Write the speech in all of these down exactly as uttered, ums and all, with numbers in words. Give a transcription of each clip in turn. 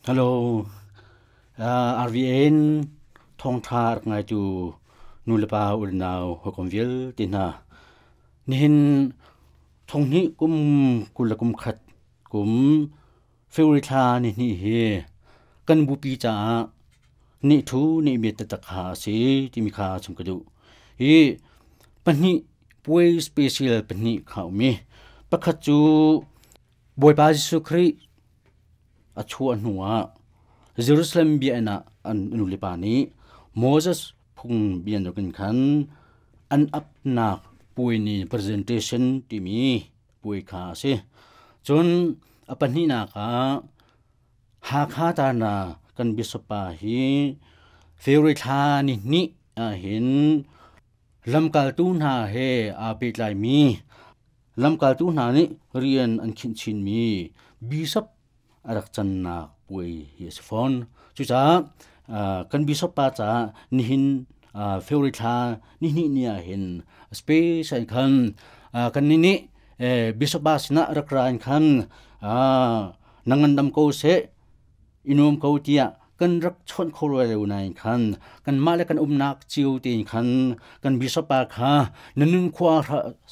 Hello, uh, R V N thawngtha rak ngaitu nulepa unau hawikom vialte hna. Nihin thonghnih kum kul le kum khat kum February thla ni hnih hi kan bupi caah ni thu ni miat taktak kha a si timi kha chung ka duh. Hi pahnih puai special pahnih kha um i pakhat cu Bawipa Jesuh Khrih a chuah hnuah Jerusalem biakinn ah an nulepa nih Moses phung biandokin khan an apnak puai ni presentation timi puai kha a si. Cun a pahnihnak ah Hakha Tana kan bishop pa hi February thla ni hnih ahhin lamkaltu hna he aa pehtlaimi lamkaltu hna nih rian an khinh chinmi bishop a rak cannak puai hi a si fawn. Cucaah kan bishop pa caah nihin February thla ni hnih ni ahhin special khan kan nih nih bishop pa sinah rak ra in khan na ngandam ko seh, i nuam ko tiah kan rak chawnh kho rua lo nain khan kanmah le kan umnak cio tein khan kan bishop pa kha na nun khua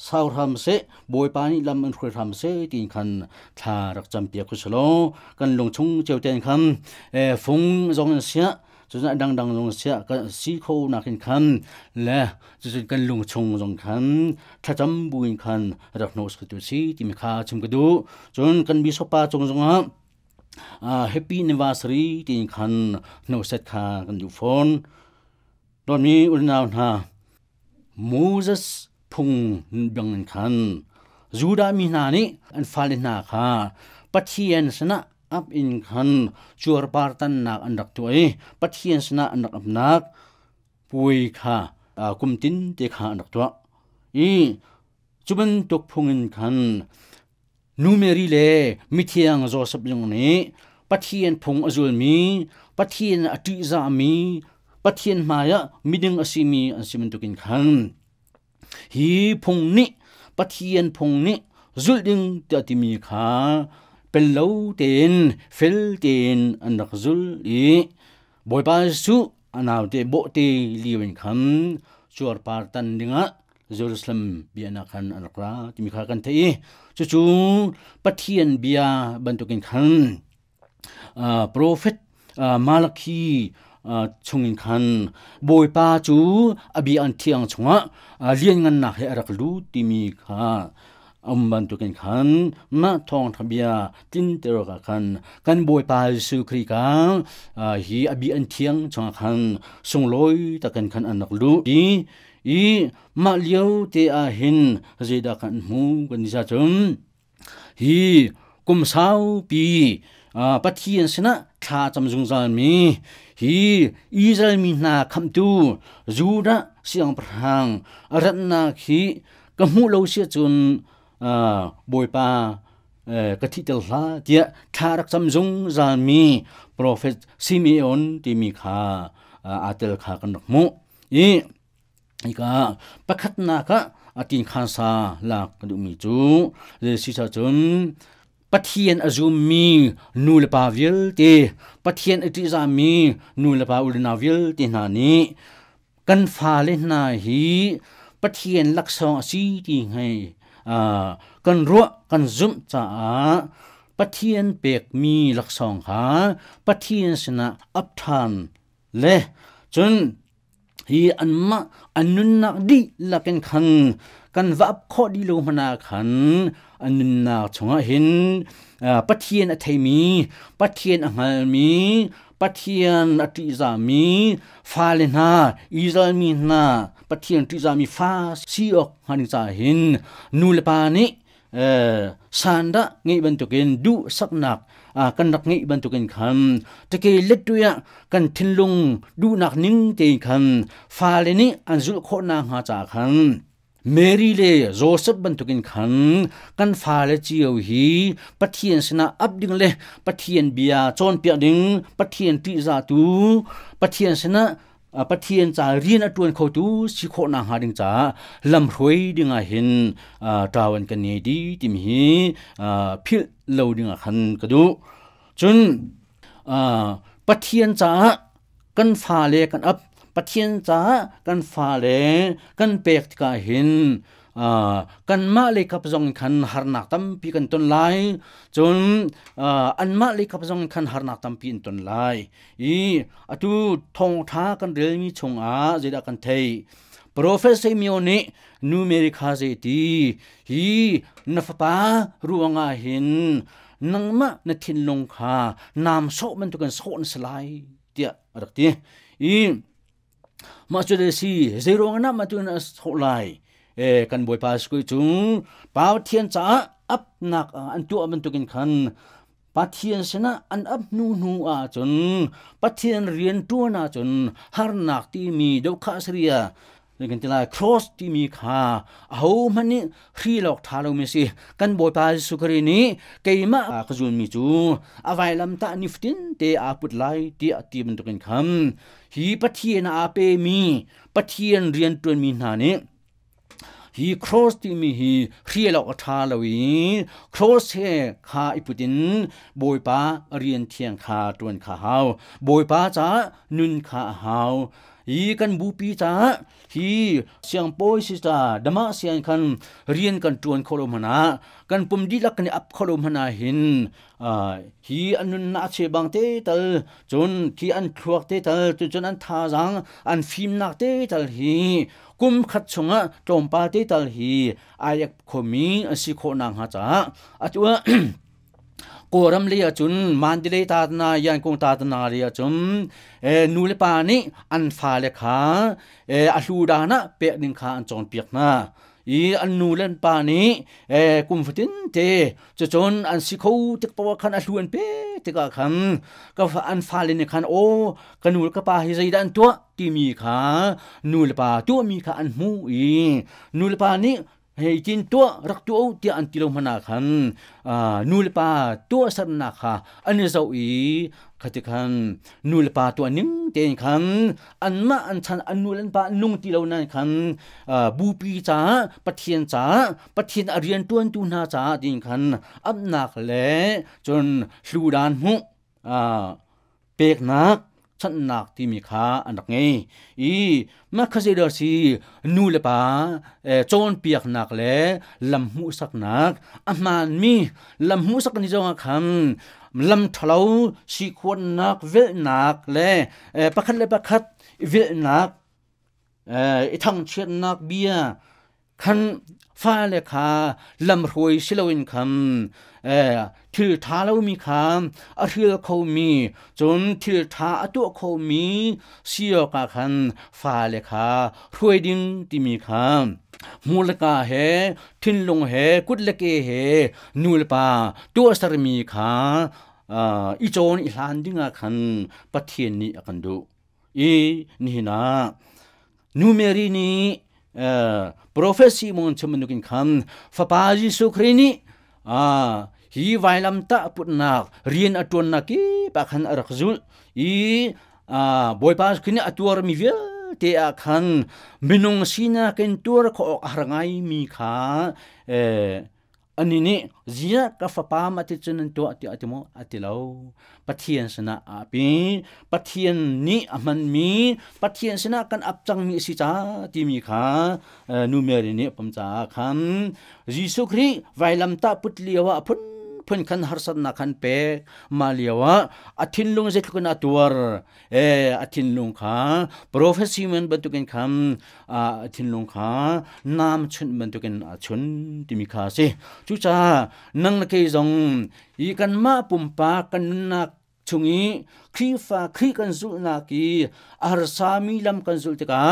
sau hram seh, Bawipa nih lam an hruai hram seh tiin khan thla rak campiak ku selaw kan lungchung cio tein khan fung zong in siah cun a dangdang zong siah kan si kho nakin khan le cucun kan lungchung zong khan thlacam buin khan rak hnawh tu si timi kha chim ka duh. Cun kan bishop pa cung zongah Uh, happy anniversary tiin khan hnoset kha kan duh fawn. Dawtmi unau hna, Moses phung bangin khan Judah mi hna nih an fale hna kha Pathian sinah ap in khan cuarpar tannak an rak tuah i Pathian sinah an rak apnak puai kha uh, kum tin te kha an rak tuah. I cu bantuk phung in khan Nu Mary le mithiang Joseph zong nih Pathian phung a zulmi, Pathian a ṭihzahmi, Pathian hmaiah miding a simi an si bantukin khan hi phung nih Pathian phung nih zulh ding tiah timi kha pel lo tein fel tein an rak zul i Bawipa Jesuh a naute bawhte lio in khan cuarpar tan dingah Jerusalem biaknak khan an rak ra timi kha kan theih i cucu Pathian bia bantukin khan uh, prophet uh, Malakhi uh, chungin khan Bawipa cu a bia an thiang chungah uh, lianngannak he a rak lut timi kha um bantukin khan mah thawngtha bia tlinter awkah khan kan Bawipa Jesuh Khrih ka uh, hi a bia an thiang chungah khan sunglawi takin khan an rak lut i i mah lio te ah hin zeidah kan hmu kan ti cun hi kum saupi uh, Pathian sinah thla cam zungzal mi hi Israel mi hna khamtu Judah siangpahrang a ratnak hi ka hmuh lo sia cun uh, Bawipa uh, ka thih tel hlah tiah thla rak cam zungzal mi prophet Simeon timi kha uh, aa tel kha kan rak hmuh i ika pakhatnak ah atin khan sa lak kan duhmi cu si cun Pathian a zummi nu le pa vialte, Pathian a ṭihzahmi nu le pa unau vialte hna nih kan fale hna hi Pathian laksawng a si ti hei kan ruah kan zumh caah Pathian pekmi laksawng kha Pathian sinah ap ṭhan le cun hi anmah an nunnak dihlak in khan kan va ap khawh dih lo hmanh ah khan an nunnak chungah hin Pathian a theimi, Pathian a hngalmi, Pathian a ṭihzahmi fale hna, Israel mi hna Pathian ṭihzahmi fa si awk hnga ding caah hin nu le pa nih sandah ngeih bantukin duhsaknak kan rak ngeih bantukin khan teke lettu ah kan thinlung duhnak ning tein khan fale nih an zulh khawh nakhnga caah khan Mary le Joseph bantukin khan kan fale cio hi Pathian sinah ap ding le Pathian bia cawnpiak ding, Pathian ṭihzahtu, Pathian sinah Pathian ca rian a ṭuan khotu si khawh nakhnga ding caah lamhruai dingah hin ṭawan kan ngei dih timi hi philh lo dingah khan ka duh. Cun Pathian cha kan fa le kan ap Pathian cha kan fa le kan pek ka hin kan ma le kap zong khan harnak tampi kan ton lai chun an ma le kap zong khan harnak tampi in ton lai i atu thong tha kan relmi chungah zeida kan thei Prophet Simeon ni nu Mary kha zei ti hi na fapa ruanga hin nangma na thinlung kha nam so man tu kan so na salai tia rak ti i ma chu de si zero na ma tu na so lai e kan boy pa skui chung pau thian cha ap nak an tu man tu kin khan Pathian sena an ap nu nu a chun Pathian rian tu na chun har nak ti mi do kha sria lekin tila cross ti mi kha ho mani hri lok tha lo mi si kan boy pa sukari ni keima ka jun mi chu awai lam ta niftin te a put lai ti ati man tukin kham hi Pathian a pe mi Pathian rian tuan mi hna ni hi cross ti mi hi hri lok tha lo i cross he kha iputin boy pa rian thiang kha tuan kha hau boy pa cha nun kha hau hi kan bu pi cha hi siang poi si ta dama siang khan rian kan tuan kholo mana kan pum di lak ni ap kholo mana hin hi anun na che bang te tal chun khi an thuak te tal chun chun an tha jang an phim nak te tal hi kum khat chunga tom pa te tal hi ayak khomi asi kho nang ha cha atua koram le chun mandile ta na yan kong ta na le chun e nu le pa ni an fa le kha e a hlu da na pe ning kha an chon piak na i an nu len pa ni e kum fatin te chu chon an si kho tik pawa khan a hlu an pe te ka khan ka an fa le ni khan o ka nu ka pa hi zai dan tua ti mi kha nu le pa tua mi kha an mu i nu le pa ni hei tin tua rak tu tia an tilo mana khan nu le pa tua sar na kha an zo i khati khan nu le pa tua ning ten khan an ma an chan an nu len pa nung ti lo nan khan bu pi cha Pathian cha Pathian arian tuan tu na cha din khan ap nak le chon hlu dan mu pek nak chan nak ti mi kha an rak ngei i ma kha se si nu le pa chon piak nak le lam mu sak nak a man mi lam mu sak ni jong kham lam thalo si khon nak vel nak le pakhat le pakhat vel nak i thang chiat nak bia khan fa le kha lam roi siloin kham thil tha lo mi kha a thil kho mi chun thil tha a tu kho mi sio ka khan fa le kha roi ding ti mi kha mulka he thin lung he kut le ke he nul pa tu sar mi kha i chon i hlan dinga khan Pathian ni akan du i ni na nu Mary ni Prophet Simon chamanukin kham fapa Jesu Christ ni a hi vailam ta putnak rian atun na ki pa khan arak zul i a boy pa khini atuar mi vel te a khan minung sina ken tur kho harangai mi kha e ani ni zia ka fapa ma ti chun to ati atimo atilo Pathian sana api Pathian ni aman mi Pathian sana kan apchang mi si cha ti mi kha nu Mary ni pam cha kham Jesu Christ vailam ta putliwa phun phun khan harsat na khan pe maliawa athin lung je thukna tuar e athin lung kha Prophet Simon batukin kham athin lung kha nam chun batukin chun timi kha se chu cha nang na ke jong i kan ma pumpa kan na chungi khri fa khri kan zul na ki arsami lam kan zul te ka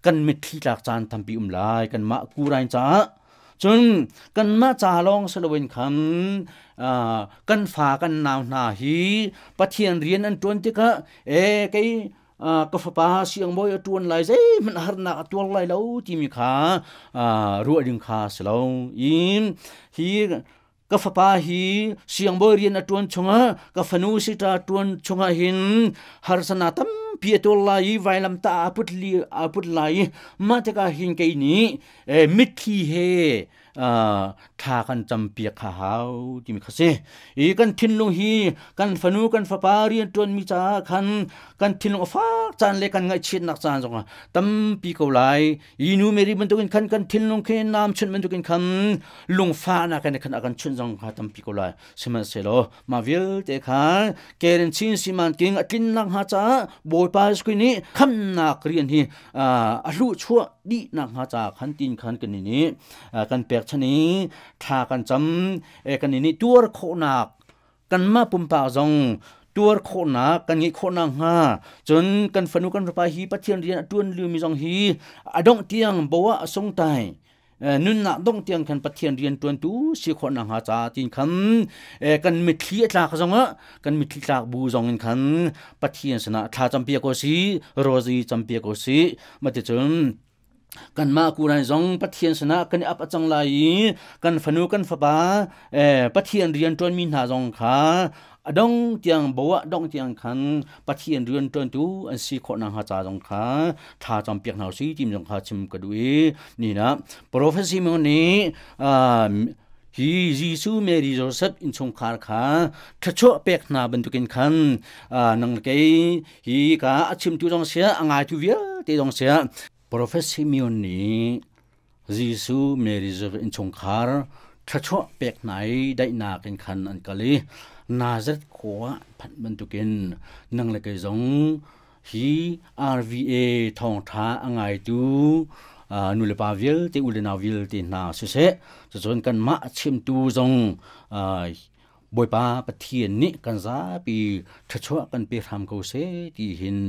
kan mit thi lak chan thampi um lai kan ma ku rain cha chun kan ma cha long salowin kham kan fa kan naw na hi Pathian rian an tuan te ka e kei ka fa pa siang boy tuan lai zai man har na tuan lai lo ti mi kha ru ding kha slo in hi ka fa pa hi siang boy rian tuan chunga ka fanu sita tuan chunga hin har sana tam pi to lai vailam ta aput li aput lai ma te ka hin ke ni e mithi he tha kan campiak kha hau timi kha si i kan thinlung hi kan fanu kan fapa rian tuan mi ca khan kan thinlung a fak caan le kan ngaihchiatnak caan zong tampi ko lai i nu Mary bantukin khan kan thinlung khi nam chun bantukin khan lungfa na kan khan akan chun zong kha tampi ko lai sihmanhsehlaw ma vialte kha keren chin siman king atlin nak ha cha Bawipa Jesuh nih khamnak rian hi a hlu chuah di nak ha cha khan tin khan kan ni kan pek chani tha kan cham kan ni tuar khonak kan ma pumpa zong tuar khonak kan ngi khonak ha chun kan fanu kan rapa hi Pathian rian atuan liu mi zong hi adong tiang bowa asong tai nun nak dong tiang kan Pathian rian tuan tu si khonak ha cha tin khan kan mithli tlak zong a kan mithli tlak bu zong in khan Pathian sana tha champia ko si rozi champia ko si mate chun kan ma kurai zong Pathian sana kan ap achang lai kan fanu kan fapa Pathian rian tuan mi hna zong kha adong tiang bowa dong tiang khan Pathian rian tuan tu an si kho na ha cha zong kha tha cham piak nau si tim zong kha chim ka dui ni na prophecy mo ni hi Jesu Mary Joseph in chung khar kha thacho pek na bantukin khan nang ke hi ka achim tu zong sia angai tu vial te zong sia Prophet Simeon ni Jesu Mary Joseph in chung khar thacho pek nai dai na kin khan an kali Nazareth khwa phat bantukin nang le ke zong hi R V A thong tha angai tu nu le pa vil te u le na vil te na se se chon kan ma chim tu zong Bawipa Pathian ni kan za pi thacho kan pe ram ko se ti hin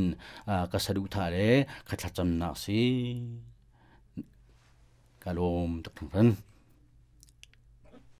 ka sadu tha le khatla cham na si kalom tak thang.